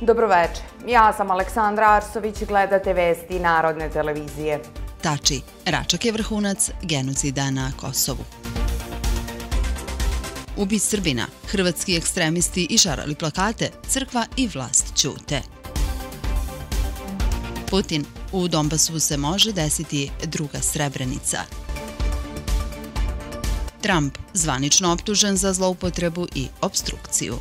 Dobroveče, ja sam Aleksandra Arsović i gledate vesti Narodne televizije. Tači, Račak je vrhunac genocida na Kosovu. Ubi Srbina, hrvatski ekstremisti išarali plakate, crkva i vlast ćute. Putin, u Donbasu se može desiti druga Srebrenica. Trump, zvanično optužen za zloupotrebu i opstrukciju.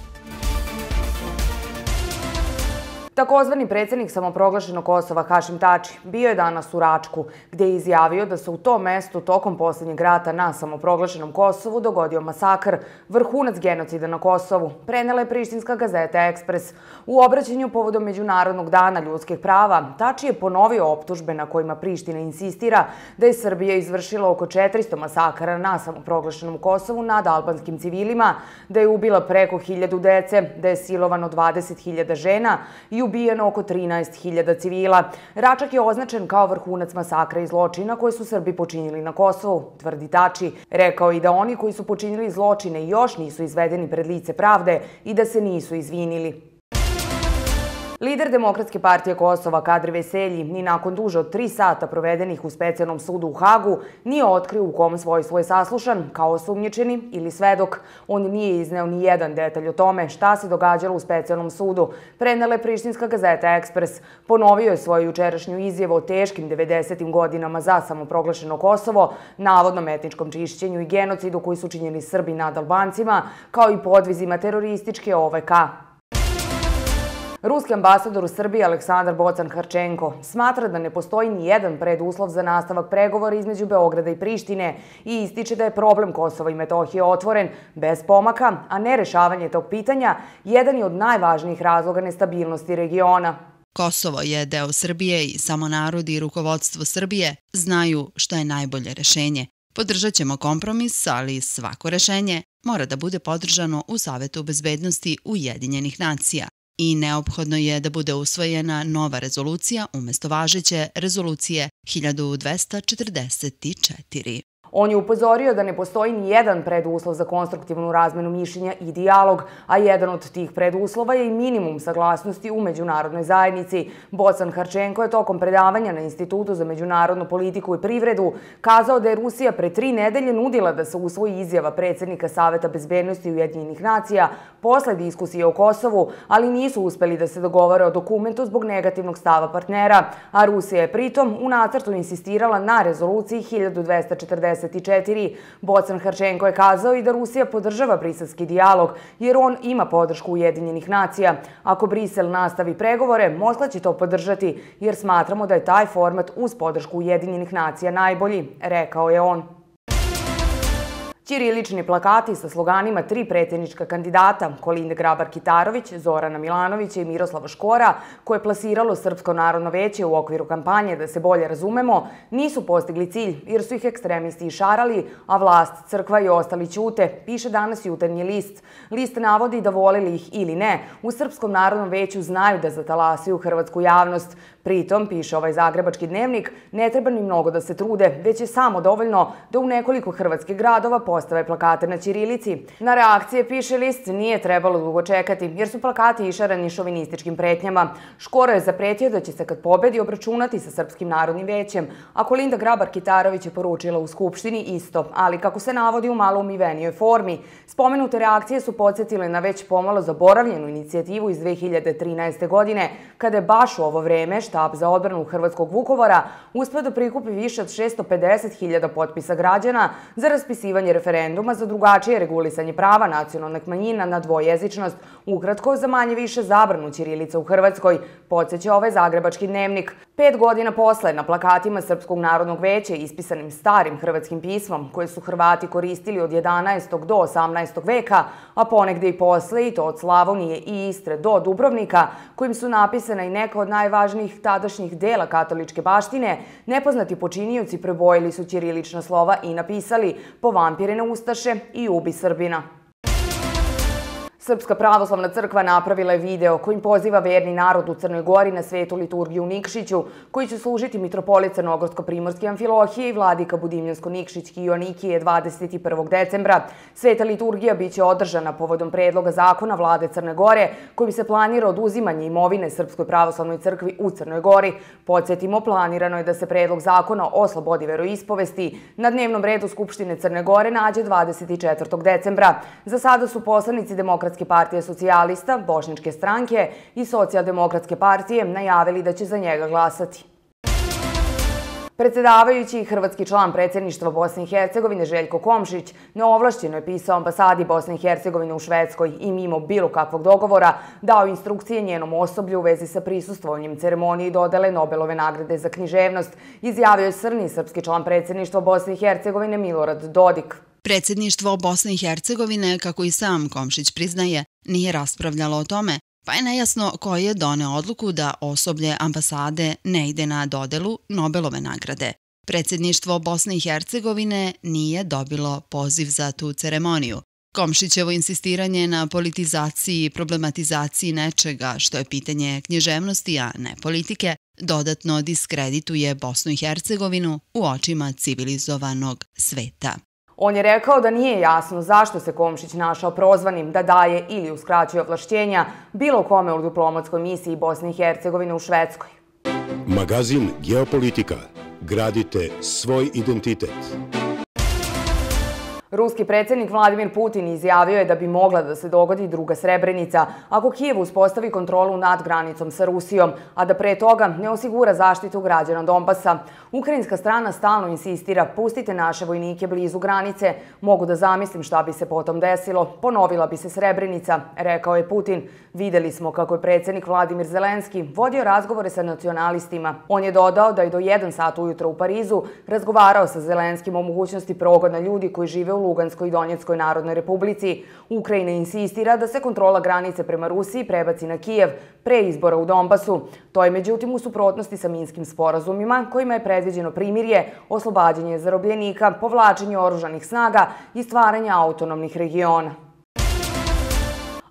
Takozvani predsjednik samoproglašenog Kosova Hašim Tači bio je danas u Račku, gdje je izjavio da se u tom mestu tokom posljednjeg rata na samoproglašenom Kosovu dogodio masakr, vrhunac genocida na Kosovu, prenela je prištinska gazeta Ekspres. U obraćanju povodom Međunarodnog dana ljudskih prava, Tači je ponovio optužbe na kojima Priština insistira da je Srbija izvršila oko 400 masakara na samoproglašenom Kosovu nad albanskim civilima, da je ubila preko 1000 dece, da je silovano 20.000 žena i ubijeno oko 13.000 civila. Račak je označen kao vrhunac masakra i zločina koje su Srbi počinili na Kosovu, tvrdi Tači. Rekao i da oni koji su počinili zločine još nisu izvedeni pred lice pravde i da se nisu izvinili. Lider Demokratske partije Kosova Kadri Veselji ni nakon duže od 3 sata provedenih u specijalnom sudu u Hagu nije otkrio u kom svojstvu je saslušan kao osumnjičeni ili svedok. On nije izneo ni jedan detalj o tome šta se događalo u specijalnom sudu, prenela je prištinska gazeta Ekspres. Ponovio je svoju jučerašnju izjavu o teškim 90. godinama za samoproglašeno Kosovo, navodnom etničkom čišćenju i genocidu koji su činjeni Srbi nad Albancima, kao i podvizima terorističke OVK. Ruski ambasador u Srbiji Aleksandar Bocan-Harčenko smatra da ne postoji ni jedan preduslov za nastavak pregovora između Beograda i Prištine i ističe da je problem Kosova i Metohije otvoren bez pomaka, a nerešavanje tog pitanja jedan je od najvažnijih razloga nestabilnosti regiona. Kosovo je deo Srbije i samo narod i rukovodstvo Srbije znaju što je najbolje rešenje. Podržat ćemo kompromis, ali svako rešenje mora da bude podržano u Savetu bezbednosti Ujedinjenih nacija. I neophodno je da bude usvojena nova rezolucija umjesto važeće rezolucije 1244. On je upozorio da ne postoji ni jedan preduslov za konstruktivnu razmenu mišljenja i dijalog, a jedan od tih preduslova je i minimum saglasnosti u međunarodnoj zajednici. Bocan-Harčenko je tokom predavanja na Institutu za međunarodnu politiku i privredu kazao da je Rusija pre 3 nedelje nudila da se usvoji izjava predsjednika Saveta bezbednosti Ujedinjenih nacija posle diskusije o Kosovu, ali nisu uspeli da se dogovore o dokumentu zbog negativnog stava partnera, a Rusija je pritom u nacrtu insistirala na rezoluciji 1244. Bocan-Harčenko je kazao i da Rusija podržava briselski dijalog, jer on ima podršku Ujedinjenih nacija. Ako Brisel nastavi pregovore, Moskva će to podržati, jer smatramo da je taj format uz podršku Ujedinjenih nacija najbolji, rekao je on. Ćirilični plakati sa sloganima 3 predsjednička kandidata, Kolinde Grabar-Kitarović, Zorana Milanovića i Miroslava Škora, koje je plasiralo Srpsko narodno veće u okviru kampanje Da se bolje razumemo, nisu postigli cilj jer su ih ekstremisti išarali, a vlast, crkva i ostali ćute, piše danas Jutarnji list. List navodi da voleli ih ili ne, u Srpskom narodnom veću znaju da zatalasaju hrvatsku javnost. Pritom, piše ovaj zagrebački dnevnik, ne treba ni mnogo da se trude, već je samo dovoljno da u nekoliko hrvatskih gradova postave plakate na ćirilici. Na reakcije, piše list, nije trebalo dugo čekati, jer su plakati išarani šovinističkim pretnjama. Škoro je zapretio da će se kad pobedi obračunati sa Srpskim narodnim većem, a Kolinda Grabar-Kitarović je poručila u Skupštini isto, ali kako se navodi u malo umivenijoj formi. Spomenute reakcije su podsjetile na već pomalo zaboravljenu inicijativu iz 2013. godine, kada je baš u ovo vreme Štab za odbranu Hrvatskog Vukovara uspeo da prikupi više od 650.000 potpisa građana za raspisivanje referenduma za drugačije regulisanje prava nacionalnih manjina na dvojezičnost, ukratko za manje više zabranu ćirilice u Hrvatskoj, podsjeća ovaj zagrebački dnevnik. 5 godina posle, na plakatima Srpskog narodnog veća ispisanim starim hrvatskim pismom, koje su Hrvati koristili od 11. do 18. veka, a ponegde i posle, i to od Slavonije i Istre do Dubrovnika, kojim su napisana i neka od najvažnijih tadašnjih dela katoličke baštine, nepoznati počinioci prebojili su ćirilična slova i napisali "Povampirene ustaše i ubi Srbina". Srpska pravoslavna crkva napravila je video kojim poziva verni narod u Crnoj Gori na svetu liturgiju u Nikšiću, koji će služiti mitropolit Crnogorsko-primorski Amfilohije i vladika Budimljansko-Nikšićki Ionikije 21. decembra. Sveta liturgija biće održana povodom predloga zakona vlade Crne Gore, kojim se planira oduzimanje imovine Srpskoj pravoslavnoj crkvi u Crnoj Gori. Podsjetimo, planirano je da se predlog zakona o slobodi veroispovesti na dnevnom redu Skupštine Crne Gore nađe 24. decembra. Za sada su poslanici Demokratske partije socijalista, Bošnjačke stranke i Socijaldemokratske partije najavili da će za njega glasati. Predsedavajući i hrvatski član predsjedništva Bosne i Hercegovine Željko Komšić neovlašćeno je pisao ambasadi Bosne i Hercegovine u Švedskoj i mimo bilo kakvog dogovora dao instrukcije njenom osoblju u vezi sa prisustvovanjem ceremoniji dodele Nobelove nagrade za književnost, izjavio je srni srpski član predsjedništva Bosne i Hercegovine Milorad Dodik. Predsjedništvo Bosne i Hercegovine, kako i sam Komšić priznaje, nije raspravljalo o tome, pa je nejasno ko je doneo odluku da osoblje ambasade ne ide na dodelu Nobelove nagrade. Predsjedništvo Bosne i Hercegovine nije dobilo poziv za tu ceremoniju. Komšićevo insistiranje na politizaciji i problematizaciji nečega, što je pitanje književnosti, a ne politike, dodatno diskredituje Bosnu i Hercegovinu u očima civilizovanog sveta. On je rekao da nije jasno zašto se Komšić našao prozvanim da daje ili uskraćuje ovlašćenja bilo kome u diplomatskoj misiji Bosne i Hercegovine u Švedskoj. Magazin Geopolitika. Gradite svoj identitet. Ruski predsjednik Vladimir Putin izjavio je da bi mogla da se dogodi druga Srebrenica ako Kijev uspostavi kontrolu nad granicom sa Rusijom, a da pre toga ne osigura zaštitu građana Donbasa. Ukrajinska strana stalno insistira: pustite naše vojnike blizu granice, mogu da zamislim šta bi se potom desilo, ponovila bi se Srebrenica, rekao je Putin. Videli smo kako je predsjednik Vladimir Zelenski vodio razgovore sa nacionalistima. On je dodao da je do 1 sat ujutro u Parizu razgovarao sa Zelenskim o mogućnosti progona ljudi koji žive u Luganskoj i Donjeckoj narodnoj republici. Ukrajina insistira da se kontrola granice prema Rusiji prebaci na Kijev pre izbora u Donbasu. To je međutim u suprotnosti sa Minskim sporazumima kojima je predviđeno primirje, oslobađanje zarobljenika, povlačenje oružanih snaga i stvaranje autonomnih regiona.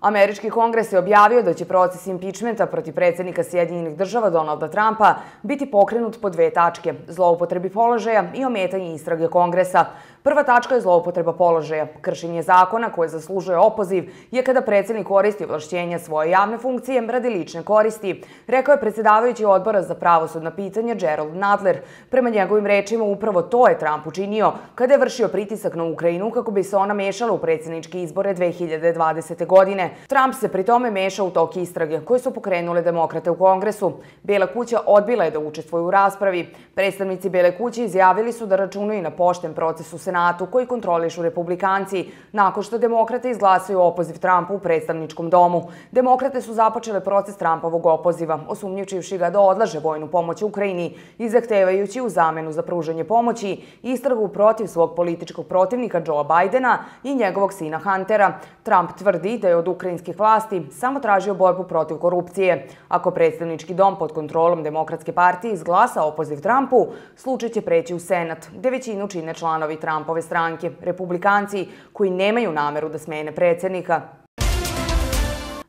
Američki kongres je objavio da će proces impičmenta protiv predsjednika Sjedinjenih država Donalda Trumpa biti pokrenut po 2 tačke: zloupotrebi položaja i ometanje istrage kongresa. Prva tačka je zloupotreba položaja. Kršenje zakona koje zaslužuje opoziv je kada predsjednik koristi ovlašćenja svoje javne funkcije radi lične koristi, rekao je predsjedavajući odbora za pravosudna pitanja Gerald Nadler. Prema njegovim rečima, upravo to je Trump učinio kada je vršio pritisak na Ukrajinu kako bi se ona mešala u predsjedničke izbore 2020. godine. Trump se pri tome mešao u tok istrage koje su pokrenule demokrate u kongresu. Bela kuća odbila je da učestvuje u raspravi. Predstavnici Bele kuće izjavili su da računaju na pošten proces u Senatu koji kontrolišu republikanci nakon što demokrate izglasaju opoziv Trumpu u predstavničkom domu. Demokrate su započele proces Trumpovog opoziva, osumnjičivši ga da odlaže vojnu pomoć Ukrajini i zahtevajući u zamenu za pružanje pomoći istragu protiv svog političkog protivnika Joea Bidena i njegovog sina Huntera. Trump tvrdi da je od ukrajinskih vlasti samo tražio borbu protiv korupcije. Ako predstavnički dom pod kontrolom Demokratske partije izglasa opoziv Trumpu, slučaj će preći u Senat, gde većinu čine članovi Trumpove stranke, republikanci koji nemaju nameru da smene predsjednika.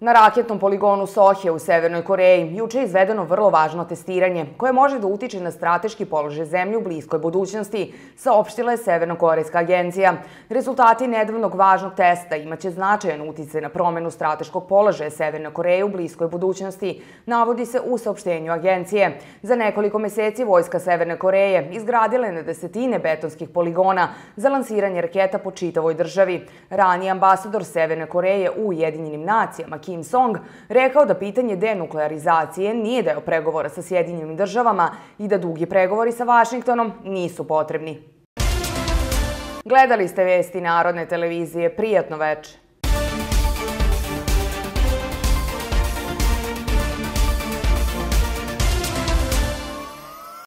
Na raketnom poligonu Sohe u Severnoj Koreji juče je izvedeno vrlo važno testiranje koje može da utiče na strateški položaj zemlje u bliskoj budućnosti, saopštila je Severnokorejska agencija. Rezultati nedavnog važnog testa imaće značajan uticaj na promenu strateškog položaja Severne Koreje u bliskoj budućnosti, navodi se u saopštenju agencije. Za nekoliko meseci vojska Severne Koreje izgradila je na desetine betonskih poligona za lansiranje raketa po čitavoj državi. Raniji ambasador Severne Koreje u Ujedinjenim nacijama Kim Song rekao da pitanje denuklearizacije nije deo pregovora sa Sjedinjenim državama i da dugi pregovori sa Vašingtonom nisu potrebni. Gledali ste vesti Narodne televizije. Prijatno veče.